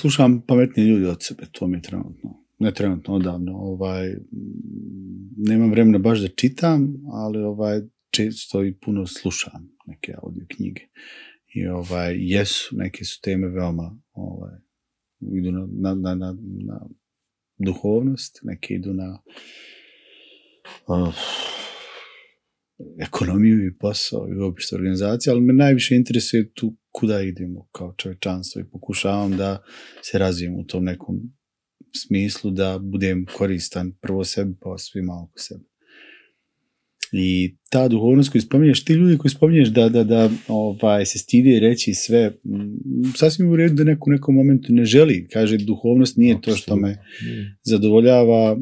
slušam pametnije ljudi od sebe, to mi je trenutno. Ne trenutno, odavno. Nemam vremena baš da čitam, ali često i puno slušam neke audio knjige. I neke su teme veoma idu na duhovnost, neke idu na ekonomiju i posao i uopšte organizaciju, ali me najviše interesuje tu kuda idemo kao čovječanstvo i pokušavam da se razvijem u tom nekom smislu, da budem koristan prvo sebi pa svima oko sebe. I ta duhovnost koju spominješ, ti ljudi koji spominješ da se stidi reći sve, sasvim u redu da neko u nekom momentu ne želi, kaže duhovnost nije to što me zadovoljava,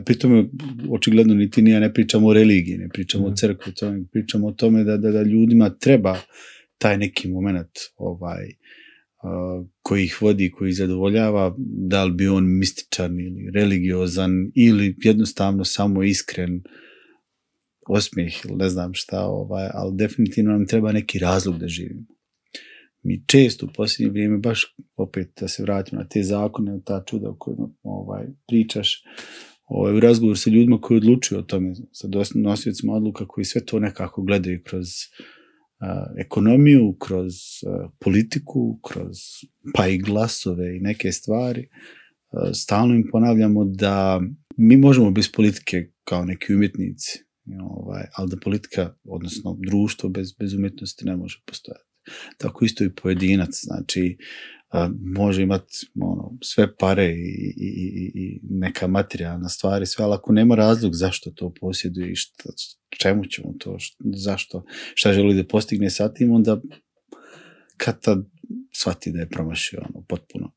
pri tome očigledno niti ja ne pričamo o religiji, ne pričamo o crkvi, pričamo o tome da ljudima treba taj neki moment koji ih vodi, koji ih zadovoljava, da li bi on mističan ili religiozan ili jednostavno samo iskren osmijeh ili ne znam šta, ali definitivno nam treba neki razlog da živimo. Mi često u posljednje vrijeme, baš opet da se vratimo na te zakone, ta čuda o kojima pričaš, u razgovoru sa ljudima koji odlučuju o tome, sa nosiocima odluka koji sve to nekako gledaju kroz ekonomiju, kroz politiku, kroz pa i glasove i neke stvari. Stalno im ponavljamo da mi možemo bez politike kao neki umjetnici, ali da politika, odnosno društvo bez umjetnosti ne može postojati. Tako isto i pojedinac, znači može imati sve pare i neka materijalna stvari, sve, ali ako nema razlog zašto to posjeduje i čemu ćemo to, zašto, šta želi da postigne sa tim, onda kad tad shvati da je promašio potpuno.